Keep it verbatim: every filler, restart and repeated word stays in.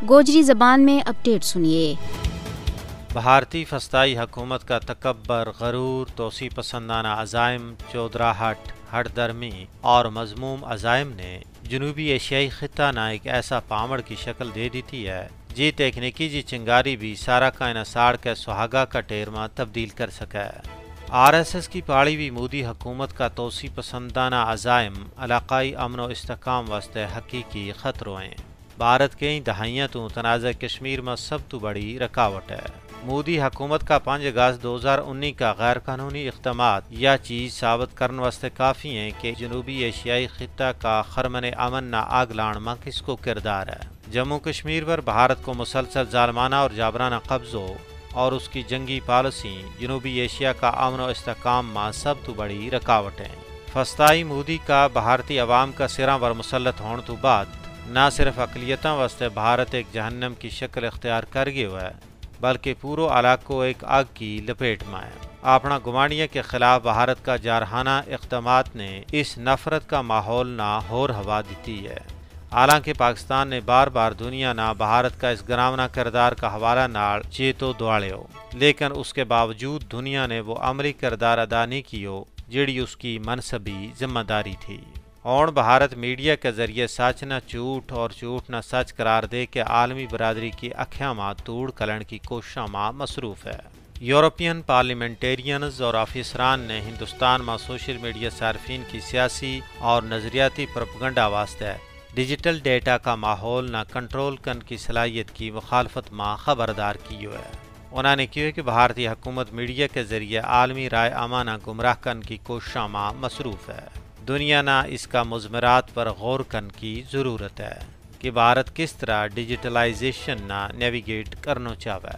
گوجری زبان میں اپڈیٹ سنیے۔ بھارتی فستائی حکومت کا تکبر، غرور، توسیع پسندانہ عزائم، چودراہٹ، ہٹ درمی اور مذموم عزائم نے جنوبی ایشیائی خطہ نا ایک ایسا پامڑ کی شکل دے دیتی ہے، جی تکنیکی جی چنگاری بھی سارا کائنا ساڑ کے سہاگا کا ٹیر ما تبدیل کر سکے۔ آر ایس ایس کی پاڑی وی مودی حکومت کا توسیع پسندانہ عزائم علاقائی امن و استحکام واسطے حقیقی خطرو ہیں۔ بھارت کئی دہائیاں تو تنازع کشمیر ما سب تو بڑی رکاوٹ ہے۔ مودی حکومت کا پنج اگست دو ہزار انی کا غیر قانونی اقدامات یا چیز ثابت کرن واسطے کافی ہیں کہ جنوبی ایشیائی خطہ کا خرمن امن نا آگ لان ما کس کو کردار ہے۔ جموں کشمیر پر بھارت کو مسلسل ظالمانہ اور جابرانہ قبضو اور اس کی جنگی پالیسی جنوبی ایشیا کا امن و استحکام ما سب تو بڑی رکاوٹ ہیں۔ فستائی مودی کا بھارتی عوام کا سراں پر مسلط ہون تو بعد نہ صرف اقلیتاں واسطے بھارت ایک جہنم کی شکل اختیار کر گیو ہے، بلکہ پورو علاقو ایک آگ کی لپیٹ ما ہے۔ اپنا گوانڈیاں کے خلاف بھارت کا جارحانہ اقدامات نے اس نفرت کا ماحول نا ہور ہوا دیتی ہے۔ حالانکہ پاکستان نے بار بار دنیا نا بھارت کا اس گراونا کردار کا حوالہ نال چیتو دواڑیو، لیکن اس کے باوجود دنیا نے وہ عملی کردار ادا نہیں کیو، جیڑی اس کی منصبی ذمہ داری تھی۔ ہون بھارت میڈیا کے ذریعے سچ نا جھوٹ اور جھوٹ نا سچ قرار دے کے عالمی برادری کی اکھیاں ما توڑ کلن کی کوششاں ما مصروف ہے۔ یورپین پارلیمنٹیرینز اور آفیسران نے ہندوستان ما سوشل میڈیا صارفین کی سیاسی اور نظریاتی پروپیگنڈا واسطے ڈیجیٹل ڈیٹا کا ماحول نا کنٹرول کن کی صلاحیت کی مخالفت ما خبردار کیو ہے۔ انہاں نے کہیو ہے کہ بھارتی حکومت میڈیا کے ذریعے عالمی رائے عامہ نا گمراہ کن کی کوششاں ما مصروف ہے۔ دنیا نا اس کا مضمرات پر غور کن کی ضرورت ہے کہ بھارت کس طرح ڈیجیٹلائزیشن نا نیویگیٹ کرنو چاہوے۔